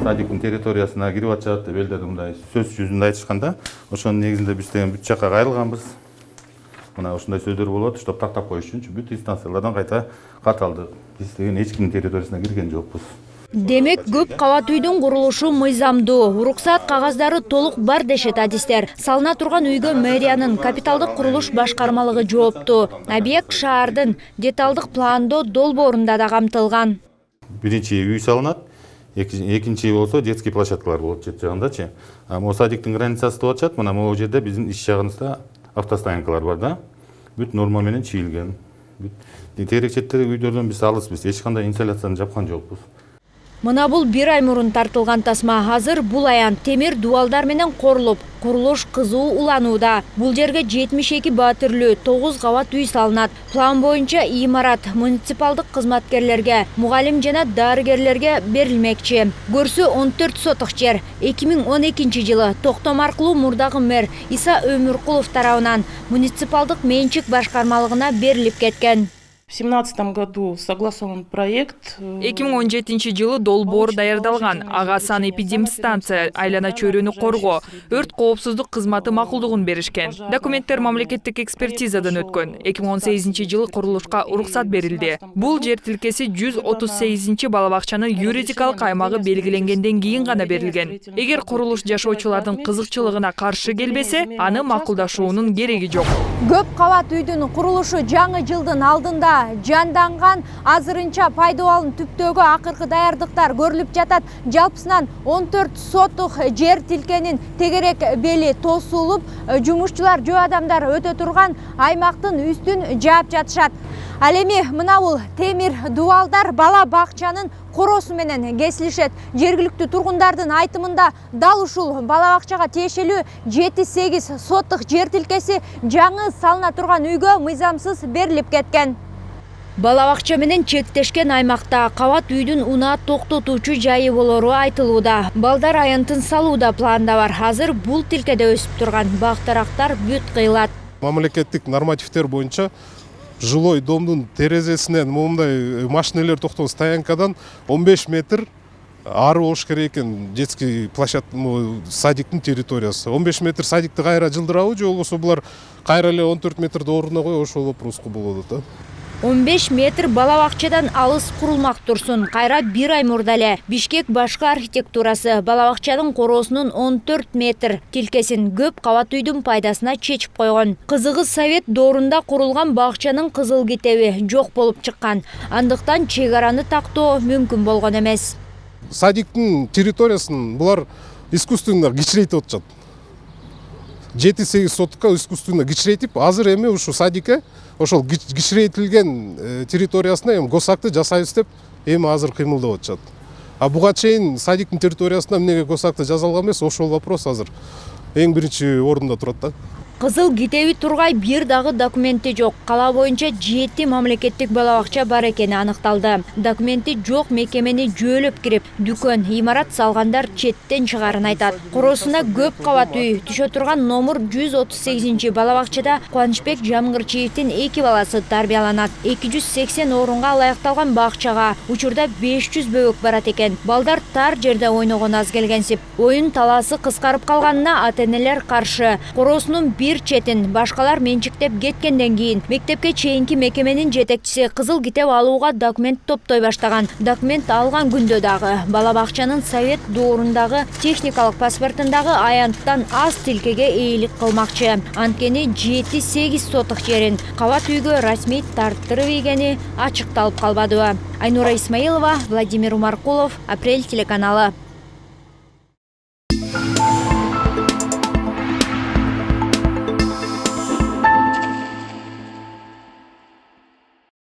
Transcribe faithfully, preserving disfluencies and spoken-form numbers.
Садиктин территориясына кирип атышат деп элдер мындай сөз жүзүндө айтышканда, ошонун негизинде биз деген бүт жакка кайрылганбыз. Мына ушундай сөздөр болуп атат, чтоб тактап коюш үчүн бүт инстанциялардан кайта кат алдык. Биз деген эч кимдин территориясына кирген жокпуз. Демек, көп кабат үйдүн курулушу мыйзамдуу, уруксаат кагаздары толук бар дешет адистер. Салына турган үйгө мэриянын капиталдык курулуш башкармалыгы жооптуу. Объект шаардын деталдык пландоо долбоорунда да камтылган. Биринчи үй салынат, экинчи болсо детский площадкалар болот жет жагындачы. А могу садиктин границасы деп атышат. Мына могу жерде биздин иш жагыбызда автостоянкалар бар да. Бүт норма менен чийилген. Бүт терекчеттер үйдөрдөн биз алыспыз. Эч кандай инсоляцияны жапкан жокпуз. Мына бул бир ай мурун тартылган тасма. Азыр бул аян темир дубалдар менен корулуп, курулуш кызуу уланууда. Бул жерге жетимиш эки баатирлүү тогуз кабат үй салынат. План боюнча имарат муниципалдык кызматкерлерге, мугалим жана дарыгерлерге берилмекчи. Көрсү он төрт соток жер эки миң он экинчи жылы токтом аркылуу мурдагы мэр Иса Өмүркулов тарабынан муниципалдык менчик башкармалыгына берилип кеткен. В две тысячи семнадцатом году согласован проект. эки миң он жетинчи жылы долбоор даярдалган. Ага санэпидемстанция, айлана чөйрөнү коргоо, өрт коопсуздук кызматы макулдугун беришкен. Документтер мамлекеттик экспертизадан өткөн. эки миң он сегизинчи жылы курулушка уруксат берилди. Бул жер тилкеси жүз отуз сегизинчи бала бакчанын юридикалык аймагы белгиленгенден кийин гана берилген. Эгер курулуш жашоочулардын кызыкчылыгына каршы келбесе, аны макулдашуунун кереги жок. Көп кабат үйдүн курулушу жаңы жылдын алдында жанданган, азырынча пайдалануу түптөгү акыркы даярдыктар көрүлүп жатат. Жалпысынан он төрт соток жер тилкенин тегерек бели тосулуп, жумушчулар, жөө адамдар өтө турган аймактын үстүн жаап жатышат. Ал эми мына бул темир дубалдар бала бакчанын коросу менен кесилишет. Жергиликтүү тургундардын айтымында дал ушул бала бакчага тиешелүү жети сегиз соток жер тилкеси жаңы салына турган үйгө мыйзамсыз берилип кеткен. Бала бакча менен чектешкен аймакта кабат үйдүн унаа токтотуучу жайы болору айтылууда. Балдар аянтын салууда планда бар. Азыр бул тилкеде өсүп турган бак-дарактар бүт кыйылат. Мамлекеттик нормативдер боюнча жилой домдун терезесинен моундай машинелер токтогон стоянкадан он беш метр ары болуш керек экен. Детский площадка, садиктин территориясы. он беш метр садикти кайра жылдырабы же болбосо булар кайра эле он төрт метрди ордуна коюп ошол вопроску болот да. он беш метр бала бакчадан алыс курулмак турсун. Кайра бир ай мурда эле Бишкек башкы архитектурасы бала бакчанын короосунун он төрт метр тилкесин көп кабат үйдүн пайдасына чечип койгон. Кызыгы Совет доорунда курулган бакчанын кызыл китеби жок болуп чыккан. Андыктан чек араны тактоо мүмкүн болгон эмес. Садиктин территориясын булар искусственно кичирейтип атышат. жети сегиз сотокко искусственно кичирейтип, азыр эми ушу садикке ошол кичирейтилген территориясына эми госакты жасайбыз деп эми азыр кыймылдап атышат. А буга чейин садиктин территориясына эмнеге госакты жасалган эмес, ошол вопрос азыр эң биринчи орунда турат да. Кызыл китеби тургай бир дагы документи жок. Кала боюнча жети мамлекеттик бала бакча бар экени аныкталды. Документи жок мекемени жөөлөп кирип, дүкөн, имарат салгандар четтен чыгарын айтат. Короосуна көп кабат үй түшө турган номер жүз отуз сегизинчи бала бакчада Кубанычбек Жамгырчиевдин эки баласы тарбияланат. эки жүз сексен орунга ылайыкталган бакчага учурда беш жүз бөбөк барат экен. Балдар тар жерде ойногон аз келгенсип, оюн талаасы кыскарып калганына ата-энелер каршы. Короосунун бир четин башкалар менчиктеп кеткенден кийин мектепке чейинки мекеменин жетекчиси кызыл китеп алууга документ топтой баштаган. Документ алган күндө дагы бала бакчанын Совет доорундагы техникалык паспортундагы аянттан аз тилкеге ээлик кылмакчы. Анткени жети сегиз соток жерин кабат үйгө расмий тарттырып ийгени ачыкталып калбады. Айнура Исмаилова, Владимир Умаркулов, Апрель телеканалы.